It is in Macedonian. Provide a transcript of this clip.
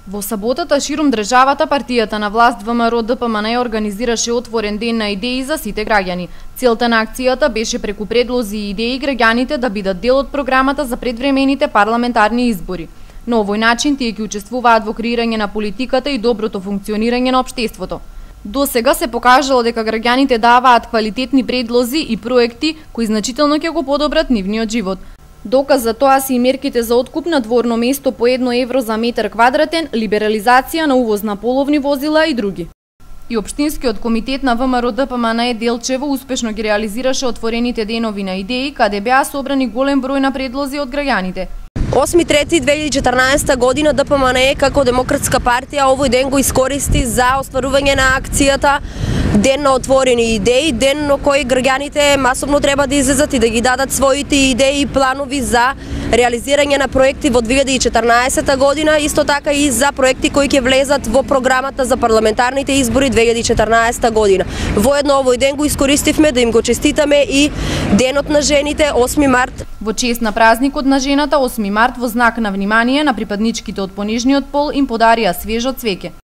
Во саботата ширум државата партијата на власт ВМРО-ДПМН организираше отворен ден на идеи за сите граѓани. Целта на акцијата беше преку предлози и идеи граѓаните да бидат дел од програмата за предвремените парламентарни избори. На овој начин тие ќе учествуваат во креирање на политиката и доброто функционирање на општеството. До сега се покажало дека граѓаните даваат квалитетни предлози и проекти кои значително ќе го подобрат нивниот живот. Доказ за тоа се и мерките за откуп на дворно место по 1 евро за метар квадратен, либерализација на увоз на половни возила и други. И Општинскиот комитет на ВМРО-ДПМН Делчево успешно ги реализираше отворените денови на идеи, каде беа собрани голем број на предлози од граѓаните. 8.3.2014 година ДПМН како демократска партија овој ден го искористи за остварување на акцијата Ден на отворени идеи, ден на кој граѓаните масовно треба да излезат и да ги дадат своите идеи и планови за реализирање на проекти во 2014 година, исто така и за проекти кои ќе влезат во програмата за парламентарните избори 2014 година. Воедно овој ден го искористивме да им го честитаме и Денот на жените 8 март. Во чест на празникот на жената 8 март во знак на внимание на припадничките од понижниот пол им подарија свежо цвеќе.